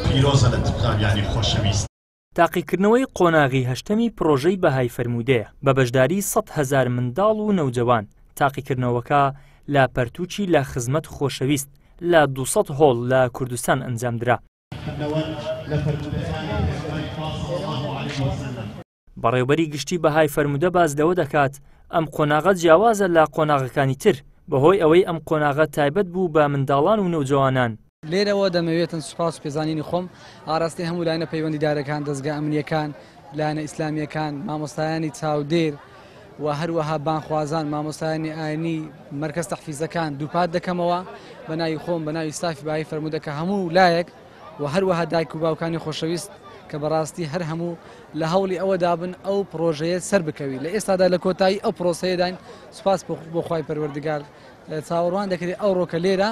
پیرۆزە لە قوتابیانی خۆشەویست. تاقیکردنەوەی قۆناغی هەشتەمی پڕۆژەی بەهای فەرموودەیە بە بەشداری 100,000 منداڵ و نەوجەوان، تاقیکردنەوەکە لە پەرتووکی لە خزمەت خۆشەویست لە 200 هۆڵ لە کوردستان ئەنجامدرا. بەڕێوبەری گشتی بەهای فەرموودە باس لەوە دەکات، ئەم قۆناغە جیاوازە لە قۆناغەکانی تر، بەهۆی ئەوەی ئەم قۆناغە تایبەت بوو بە منداڵان و نەوجەوانان. لێرەوە دەمەوێتن سوپاس و پێزانینی خۆم ئاراستەی هەموو لایەنە پەیوەندیدارەکان، دەزگا ئەمنییەکان، لایەنە ئیسلامییەکان، مامۆستایانی چاودێر و هەروەها بانگخوازان، مامۆستایانی ئاینی، مەرکەز تەحفیزەکان دووپات دەکەمەوە بە ناوی خۆم، بە ناوی ستافی بەهای فەرموودە کە هەموو لایەک و هەروەها دایک و باوکانی خۆشەویست کە بەڕاستی هەر هەموو لە هەوڵی ئەوەدا بن ئەو پڕۆژەیە سەر بکەوی. لە ئێستادا لە کۆتایی ئەو پرۆسەیەداین، سوپاس بۆ خوای پەروەردگار. چاوەڕوان دەکرێت ئەوڕۆکە لێرە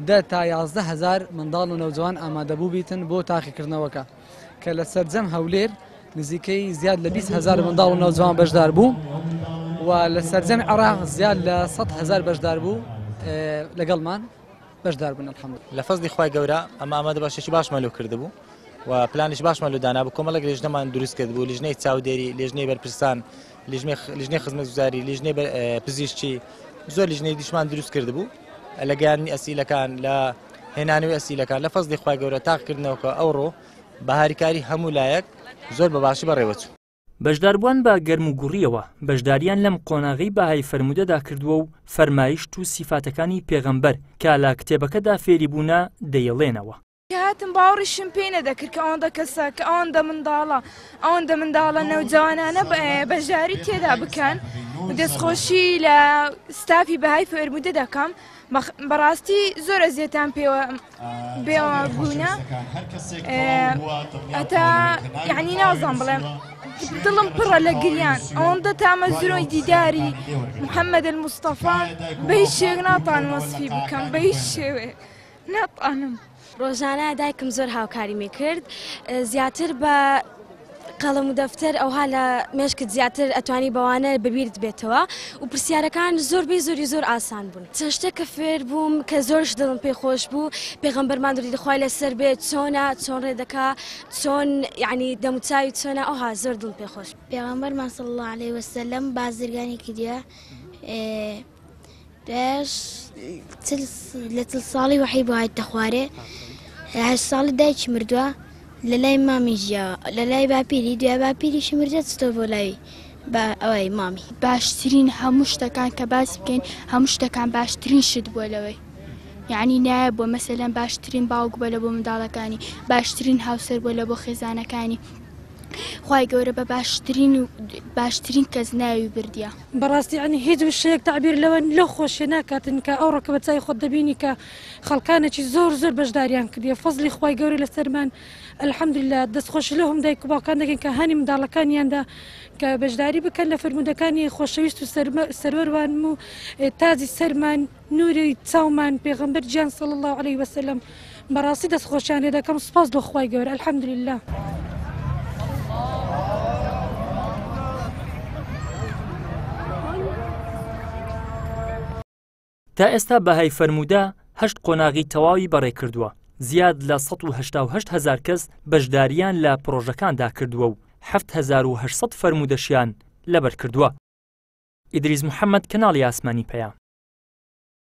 10 تا 11 هزار منداڵ و نەوجوان ئامادەبوو بیتن بۆ تاقیکردنەوەکە کە لە سەرجەم هەولێر نزیکەی زیاد لە 20 هزار منداڵ و نەوجوان بەشدار بوو و لە سەرجەم عێراق زیاد لە 100 هزار بەشدار بوو لەگەڵمان بەشدار بوون الحمد. لە فەزلی خوای گەورە ئەمە ئامادە باشێکی باشمان لۆ کردبوو و پلانیش باشمان لۆ دانابوو، کۆمەڵێک لیژنەمان دروست کردبوو، لیژنەی چاودێری، لیژنەی بەرپرسان، لیژنەی خزمەتگوزاری، لیژنەی پزیشکی، زۆر لیژنەی دیشمان دروست کردبوو لە گەیاندنی ئەسیلەکان، لە هێنانەوەی ئەسیلەکان. لە فەزلی خوای گەورە تاقیکردنەوەکە ئەوڕۆ بە هاریکاری هەموو لایەک زۆر بە باشی بەڕێوەچوو. بەشداربووان بە گەرموگوڕییەوە بەشدارییان لەم قۆناغەی بەهای فەرموودەدا کردووە و فەرمایشت و سیفاتەکانی پێغەمبەر کە لە کتێبەکەدا فێری بوونە دەیڵێنەوە. کە هاتم باوەڕیشم پێی نەدەکرد کە ئەوەندە کەسە، کە ئەوەندە منداڵە، ئەوەندە منداڵە نەوجەوانانە بەشداری تێدا بکەن. دەستخۆشی لە ستافی بەهای فەرموودە دەکەم. بەڕاستی زۆر ئەزیەتان پێوە بێوە بوونە هەتا یعنی نازان بڵێم دڵم پڕە لە گریان ئەوەندە تامەزرۆی دیداری محەممەد المستەفا بە هیچ شێوەیەک ناتوانم وەسفی بکەم بە هیچ شێوەیەک ناتوانم. ڕۆژانە دایکم زۆر هاوکاریمی کرد زیاتر بە قەڵەم و دەفتەر ئەوها لە مێشکت زیاتر ئەتوانی بەوانە بەبیرت بێتەوە و پرسیارەکان زۆربەی زۆری زۆر ئاسان بوون چەند شتێک کە فێر بووم کە زۆرش دڵم پێ خۆش بوو پێغەمبەرمان درودی خوای لەسەر بێت چۆنە چۆن ڕێ دەکا چۆن یعنی دەموچاوی چۆنە ئەوها زۆر دڵم پێ خۆش بوو. پێغەمبەرمان صلی اللە علیە وسلم بازرگانی کردیە دوایش لە چل ساڵی وەحی بۆ هاتە خوارێ هەشت ساڵی دایکی مردووە لە لای مامی ژیاوە لە لای باپیری دوای باپیریشی مردە چتۆ بۆ لای بە ئەوەی مامی. باشترین هەموو شتەکان کە باس بکەین هەموو شتەکان باشترین شت بووە لەوەی یعنی نایە بووە مەسەلەن باشترین باوک بووە لە بۆ منداڵەکانی باشترین هاوسەر بووە لە بۆ خێزانەکانی خوای گەورە بە باشترین و باشترین کەس ناوی بردیە. بەڕاستی یەعنی هیچ وشەیەک تەعبیر لەوە لەو خۆشیە ناکاتن کە ئەوڕۆ کە بە چاوی خۆت دەبینی کە خەڵکانێکی زۆر زۆر بەشداریان کردیە فەزلی خوای گەورە لەسەرمان الحمدللە دەستخۆشی لەو هەم دایک و باوکان دەکەین کە هانی منداڵەکانیاندا کە بەشداری بکەن لە فەرموودەکانی خۆشەویست و سەروەروانم و تاجی سەرمان نوری چاومان پێغەمبەر گیان صلی اللە علیە وسلم بەڕاستی دەست خۆشیان لێ دەکەم سوپاس بۆ خوای گەورە الحمدللە. تا ئێستا بەهای فەرموودە هەشت قۆناغی تەواوی بەڕێکردووە، زیاد لە 188 هەزار کەس بەشدارییان لە پڕۆژەکاندا کردووە و 7800 فەرموودەشیان لەبەرکردووە. ئیدریس محەمەد، کەناڵی ئاسمانی پەیام.